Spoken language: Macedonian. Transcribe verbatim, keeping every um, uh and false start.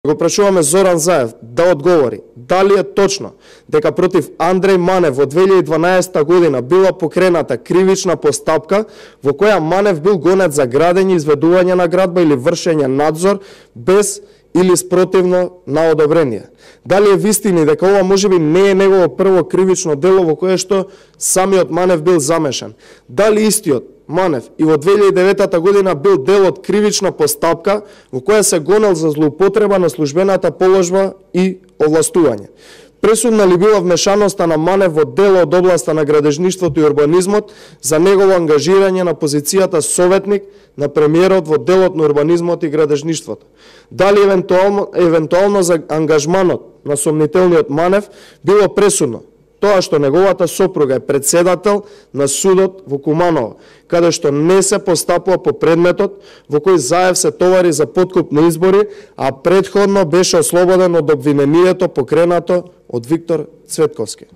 Го прашуваме Зоран Заев да одговори дали е точно дека против Андреј Манев во две илјади и дванаесетта година била покрената кривична постапка во која Манев бил гонет за градење, изведување на градба или вршење надзор без или спротивно на одобрение. Дали е вистини дека ова можеби не е негово прво кривично дело во кое што самиот Манев бил замешан? Дали истиот Манев и во две илјади и деветта година бил дел од кривична постапка во која се гонел за злоупотреба на службената положба и овластување? Пресудна ли била вмешаноста на Манев во дел од областа на градежништвото и урбанизмот за негово ангажирање на позицијата советник на премиерот во делот на урбанизмот и градежништвото? Дали евентуално, евентуално за ангажманот на сомнителниот Манев било пресудно тоа што неговата сопруга е председател на судот во Куманово, каде што не се постапува по предметот во кој Заев се товари за подкуп на избори, а претходно беше ослободен од обвинението покренато од Виктор Цветковски?